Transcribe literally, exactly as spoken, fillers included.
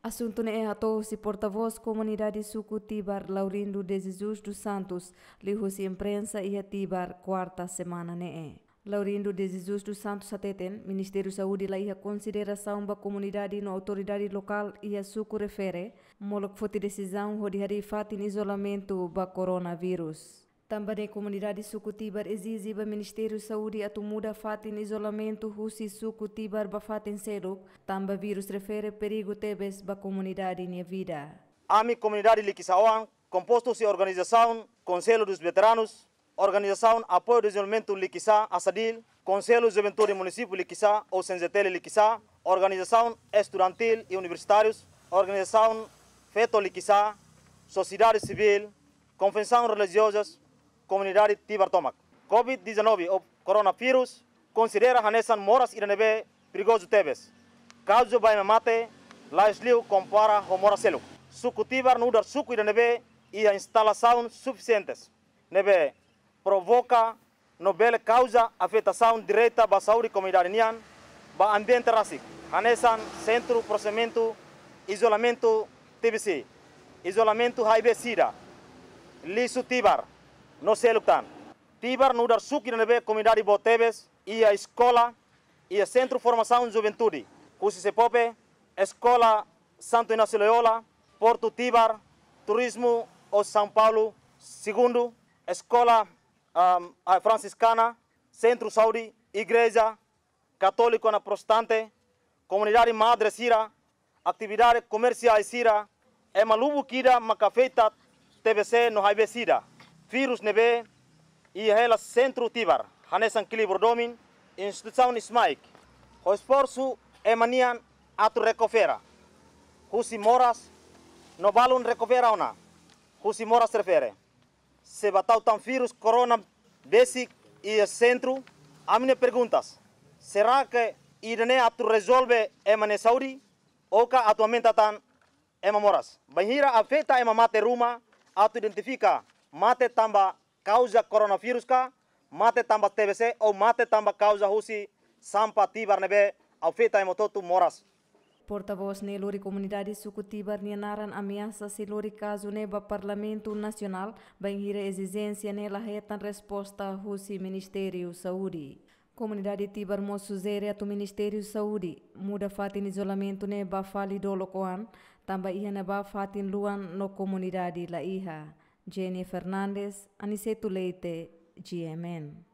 Asuntu ne'e hato'o husi portavós komunidade suku Tibar, Laurindo de Jesus dos Santos, liuhusi imprensa iha Tibar, kuarta semana ne'e. Laurindo de Jesus dos Santos hateten, Ministériu Saúde la iha konsiderasaun ba komunidade no autoridade lokál iha suku refere, molok foti desizaun hodi harii fatin izolamentu ba koronavírus. Tanba ne'e komunidade suku Tibar ezije ba Ministériu Saúde atu muda fatin izolamentu husi suku Tibar ba fatin seluk, tanba vírus refere perigu tebes ba komunidade nia vida. Ami komunidade Likisá oan, kompostu husi organizasaun Conselho dos Veteranos, organizasaun Apoiu Dezenvolvimentu Likisá, ASADIL, Konsellu Juventude Munisípiu Likisá ou CNJTL Likisá, organizasaun estudantil i universitárius, organizasaun Feto Likisá, sosiedade sivíl, konfesaun relijioza, komunidade Tibar tomak. Covid dezanove ou koronavírus konsidera hanesan moras ida ne'ebé perigozu tebes. Kauza ba ema mate la'ós liu kompara ho moras seluk. Suku Tibar nu'udar suku ida ne'ebé iha instalasaun sufisientes ne'ebé provoka no bele kauza afetasaun direta ba saúde komunidade nian, ba ambiente rasik, hanesan sentru prosesimentu, izolamentu TBC, izolamentu HIV-SIDA, lixu Tibar, no seluk tan. Tibar nu'udar suku ida ne'ebé komunidade boot tebes, iha eskola, iha sentru formasaun juventude, husi SEPOPE, eskola Santo Inácio Loyola, Portu Tibar, turizmu ou São Paulo Segundo, eskola, ahm, a Fransiskana, sentru saúde, igreja katólika no protestante, komunidade madre sira, atividade komersiál sira, ema lubuk ida maka afeta TBC no HIV-SIDA. Vírus ne'ebé iha hela sentru Tibar, hanesan Kilibur Domin, instituisaun SMAIC, ho esforsu ema nian atu rekupera husi moras, no balun rekupera ona husi moras refere. Se ba tau tan vírus korona besik iha sentru, ami-nia perguntas, será que ida-ne'e atu rezolve ema nia saúde, ou ka atu aumenta tan ema moras? Bainhira afeta ema mate ruma, atu identifika mate tanba kauza koronavírus ka, mate tanba TBC ou mate tanba kauza husi sampah Tibar ne'ebé afeta ema hotu-hotu moras. Portavós ne'e lori komunidade suku Tibar nia naran ameasa sei lori kazu ne'e ba Parlamentu Nasionál, bainhira ezijénsia ne'e la hetan resposta husi Ministériu Saúde. Komunidade Tibar mós sujere atu Ministériu Saúde muda fatin izolamentu ne'e ba fali dolok oan, tanba iha ne'ebá fatin luan no komunidade la iha. Jenny Fernandes, Aniceto Leite, G M N.